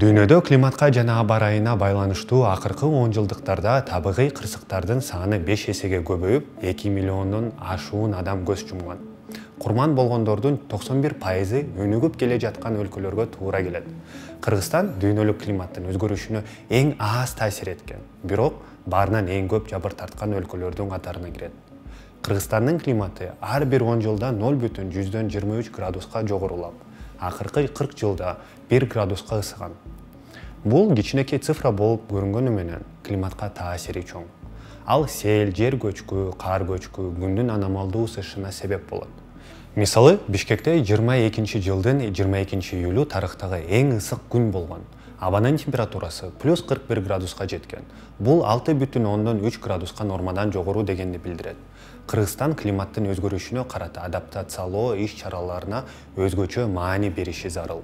Дүйнөдө климатка жана аба ырайына байланыштуу акыркы 10 жылдыктарда табигый кырсыктардын саны 5 эсеге көбөйүп, 2 миллиондон ашуун адам көз жумган. Курман болгондордун 91% өнүгүп келе жаткан өлкөлөргө туура келет. Кыргызстан дүйнөлүк климаттын өзгөрүшүнө эң аз таасир эткен, бирок баарынан эң көп жабыр тарткан өлкөлөрдүн катарына кирет. Кыргызстандын климаты ар бир 10 жылда 0,23 градуска жогорулап, акыркы 40 жылда 1 градуска ысыган. Бул кичинекей цифра болуп көрүнгөнү менен климатка таасири чоң. Ал сел, жер көчкү, кар көчкү, күндүн аномалдуу ысышына себеп болот. Мисалы, Бишкекте 22 жылдын 22 июлу тарыхтагы эң ысык күн болгон. Абанын температурасы плюс 41 градуска жеткен. Бул 6,3 градуска нормадан жогору дегенди билдирет. Кыргызстан климаттын өзгөрүшүнө карата адаптациялоо иш-чараларына өзгөчө маани бериши зарыл.